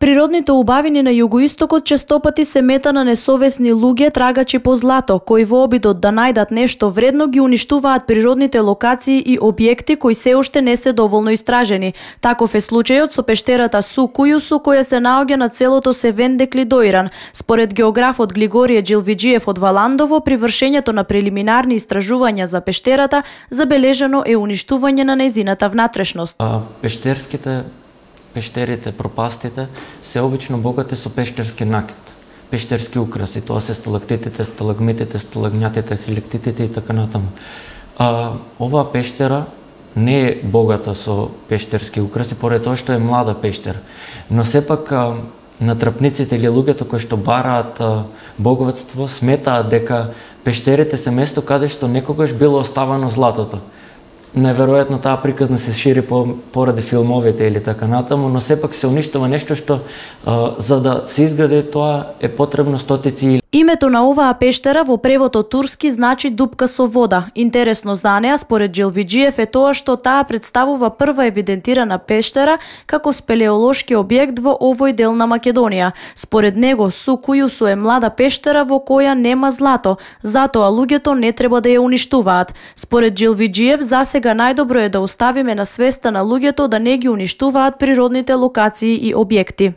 Природните убавини на југоистокот честопати се мета на несовесни луѓе трагачи по злато, кои во обидот да најдат нешто вредно ги уништуваат природните локации и објекти кои се уште не се доволно истражени. Таков е случајот со пештерата Су Кујусу, која се наоѓа на целото Севенде Клидоиран. Според географот Глигорие Джилвиџиев од Валандово, при вршењето на прелиминарни истражувања за пештерата забележано е уништување на нејзината внатрешност. Пештерите, пропастите се обично богати со пештерски накит, пештерски украси, тоа се сталактитите, сталагмитите, сталагњатите, хилектитите и така натаму. Оваа пештера не е богата со пештерски украси, поради тоа што е млада пештера. Но сепак натрапниците или луѓето кои што бараат боговатство сметаат дека пештерите се место каде што некогаш било оставано златото. Најверојатно таа приказна се шири поради филмовите или така натаму, но сепак се уништува нешто што за да се изгради тоа е потребно стотици. Името на оваа пештера во превод од турски значи дупка со вода. Интересно за неа, според Джилвиџиев, е тоа што таа представува прва евидентирана пештера како спелеолошки објект во овој дел на Македонија. Според него, Су Кујусу е млада пештера во која нема злато, затоа луѓето не треба да ја уништуваат. Според Джилвиџиев, засега најдобро е да оставиме на свеста на луѓето да не ги уништуваат природните локации и објекти.